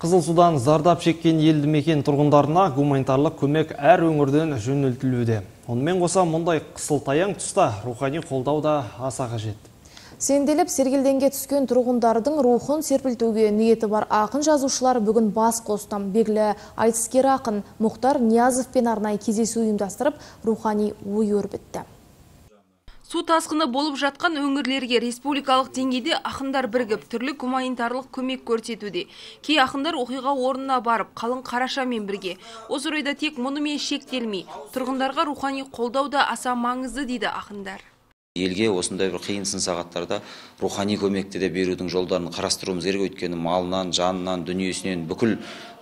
Қызылсудан зардап шеккен елді мекен тұрғындарына гуманитарлық көмек әр өңірден жөнелтілуде. Онымен қоса мұндай қысылтаяң тұста рухани қолдау да аса қажет. Сенделіп сергелденге түскен тұрғындардың рухын серпілтуге ниеті бар ақын жазушылар бүгін бас қосты. Белгілі айтыскер ақын Мұхтар Ниязовпен арнайы кездесу ұйымдастырып, рухани ой өрбітті. Су тасқыны болып жатқан өңірлерге республикалық деңгейде ақындар бірігіп, түрлі гуманитарлық көмек көрсетуде. Кей ақындар оқиға орнына барып, қалың қарашамен бірге. Осы орайда тек мұнымен шектелмей, тұрғындарға рухани қолдау да аса маңызды дейді ақындар. Елге осындай бір қиын сын сағаттарда рухани көмекті де берудің жолдарын қарастыруымыз керек. Өйткені малынан, жанынан, дүниесінен, бүкіл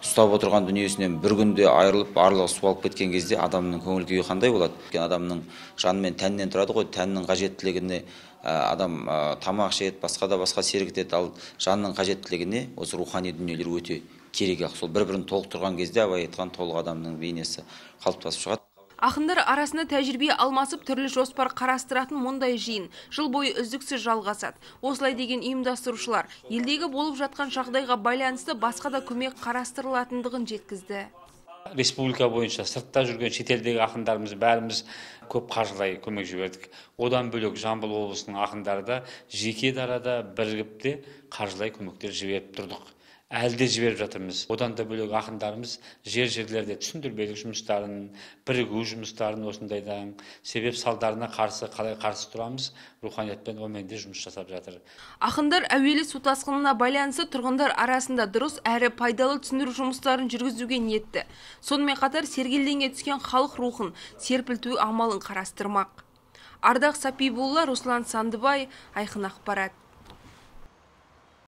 ұстап отырған дүниесінен бір күнде айырылып, барлығы суалып кеткен кезде адамның көңіл күйі қандай болады? Адамның жаны мен тәннен тұрады ғой, тәннің қажеттілігіне адам тамақ ішеді, басқа да басқа серік етеді, ал жанның қажеттілігіне осы рухани дүниелер өте керек. Сол бір-бірін толықтырған кезде абай айтқан толық адамның бейнесі қалыптасып шығады. Ақындар арасында тәжірибе алмасып түрлі жоспар қарастыратын мұндай жиын жыл бойы үздіксіз жалғасады. Осылай деген ұйымдастырушылар елдегі болып жатқан жағдайға байланысты басқа да көмек қарастырылатындығын жеткізді. Республика бойынша сыртта жүрген шетелдегі ақындарымыз бәріміз көп қаржылай көмек жібердік. Одан бөлек Жамбыл облысының ақындары да жеке дарада бірігіп те қаржылай көмектер жіберіп тұрдық. Әлде жіберіп жатырмыз. Одан да бөлек ақындарымыз жерлерде түсіндірмелік жұмыстарын, бірігу жұмыстарын осындайдан себеп салдарына қалай қарсы тұрамыз, руханиятпен оменде жұмыс жасап жатыр. Ақындар әуелі су тасқынына байланысты тұрғындар арасында дұрыс әрі пайдалы түсіндіру жұмыстарын жүргізуге ниетті. Сонымен қатар сергелденге түскен халық рухын серпілту амалын қарастырмақ. Ардақ Сапибулла, Руслан Сандыбай, Айқын ақпарат.